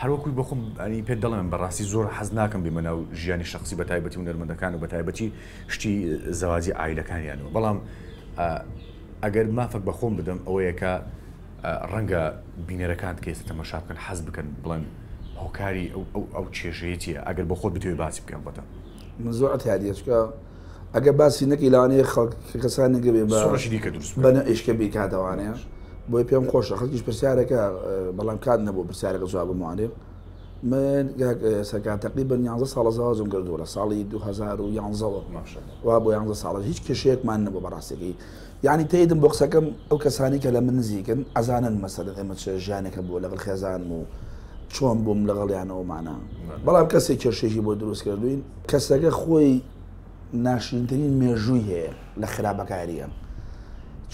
هەروەکوی بۆخۆم ئەنی پێت دەڵێم بەڕاستی زۆر حەز ناکەم بێمە ناو ژیانی شخصی بە تایبەتی هونەرمەندەکان و بە تایبەتی شتی زەواجی عایلەکانیانەوە بەڵام ئەگەر مافەک بە خۆم بدەم ئەوەیە کە ڕەنگە بینەرەکانت کە ئێستا تەمەشا بکەن حەز بکەن بڵێن هۆکاری ئەو کێشەیە چییە ئەگەر بۆ خۆت بتەوێت باسی بکەم بەتە من زۆر ئەتیادیە چکە ئەگە باسی نەکەی لەوانەیە خەڵک کەسانێک بێ بە سۆڕشی دیکە دروست بە ئیشکە بیکاتەوانەیە بۆی پێم خۆشە خەڵکیش پرسیارەکە بەڵام کات نەبوو پرسیارەکە جواب بموانێ من سەرکار تقریبا 11 ساڵە زەواجم کردووە لە ساڵی 2011ەوە وا بۆ 11 ساڵە هیچ کێشەیەکمان نەبوو بەڕاستەکەی یعنی تێدم بۆ قسەکەم ئەو کەسانی کە لە من نزیکن ئەزانن مەسەلەن ئێمە چ ژیانێکە بووە لەگەڵ خێزانم و چۆن بووم لەگەڵیانەوەمانە بەڵام کەسێک کێشێکی بۆ دروست کردوین کەسەکە خۆی ناشرینترین مێژووی هەیە لە خراپەکاریە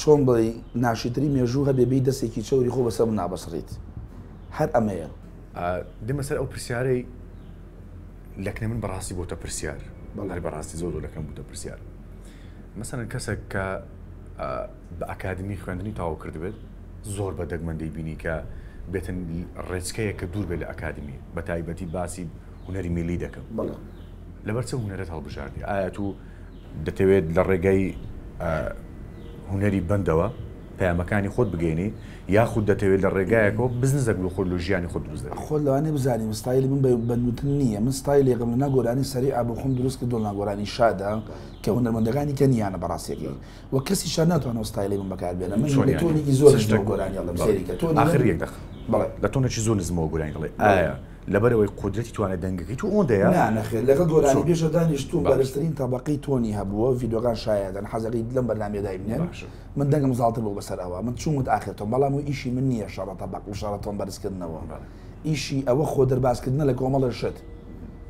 چۆن بڵێی ناشرینترین مێژوو هەبێ بێی دەستێکی چەوری خۆ بەسەر منا بسڕیت هەر ئەمەیە. دێمە سەر ئەو پرسیارەی لەکنە من بەڕاستی بۆتە پرسیار هەر بەڕاستی زۆر زۆر لەکەم بووتە پرسیار مەسەلەن کەسێک کە بە ئەکادمی خوێندنی تەواو کردبێت زۆر بە دەگمەن دەیبینی کە بێتن ڕێچکەیە کە دوور بێت لە ئەکادمی بە تایبەتی باسی هونەری میلی دەکەم بەڵێ. لەبەر چ هونەرت هەڵبژاردی؟ ئایا تو دەتەوێت لە ڕێگای هونەری بەندەوە پەیامەکانی خۆت بگەینی یاخود دەتەوێت لە ڕێگایەکەوە بزنزێک بۆ خۆت لۆ ژیانی خۆت دروست دەکەی؟ خۆت لەوانەیە بزانی من ستایلی من بە بەند وتن نییە من ستایلێکم لەناو گۆرانی سەریعە بۆ خۆم دروست کردووە لەناو گۆرانی شادە کە هونەرمەندەکانی کە نییانە بەڕاستیەکەی و کەسیشان ناتوانێت ئەو ستایلەی من بەکار بێنە من چۆن لە یانی؟ tone ێکی زۆر چ نزمەوە شتێک؟ گۆرانی ئەڵێم بەڵێ سەیری کە tone ی من ئاخر یەک دەق بەڵێ لە tone ێکی زۆر نزمەوە گۆرانی دەڵێی ئایا لەبەرئەوەی قودرەتی توانای دەنگەکەی تۆ ئەوەندەیە؟ نا نەخێر لەگەڵ گۆرانی چۆن؟ بێژە دانیشتووم باشە. بەرزترین تەبەقەی tone ی هەبووە ڤیدیۆکان شایەدن حەزەکەی لەم بەرنامەیە دایبنێن باشە. من دەنگم زاڵتر بوو بەسەر ئەوە من چوومت ئاخر tone بەڵام و ئیشی من نییە شەڕە تەبەق و شەڕە tone بەرزکردنەوە بەڵێ. ئیشی ئەوە خۆ دەربازکردنە لە کۆمەڵێ شت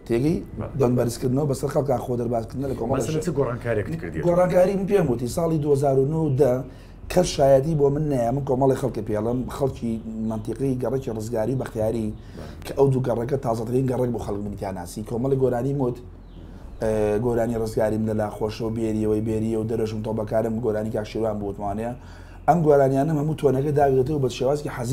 تێگەی بەڵێ. دەنگ بەرزکردنەوە بەسەر خەڵکا خۆ دەربازکردنە لە کۆمەڵێ مەسەلەن شت چ گۆڕانکاریەکت کردیە تۆ؟ گۆڕانکاری من پێم وتی ساڵی 2009 و 10 کەس شایەتی بۆ من نایە، من کۆمەڵێک خەڵکە پێڵم، خەڵکی مەنتیقەی گەڕەکی ڕزگاری و بەختیاری کە ئەو دوو گەڕەکە تازەترین گەڕەک بوو خەڵک منی تیا ناسی، کۆمەڵێک گۆرانیم وت، گۆرانی ڕزگاریم لەلا خۆشە و بێریەوەی بێریە و دەرەژم تۆبەکارم گۆرانی کاک شێروان بوو وتمانەیە، ئەم گۆرانیانەم هەموو tone ەکە داگرتەوە بە شێوازێکی حەزین.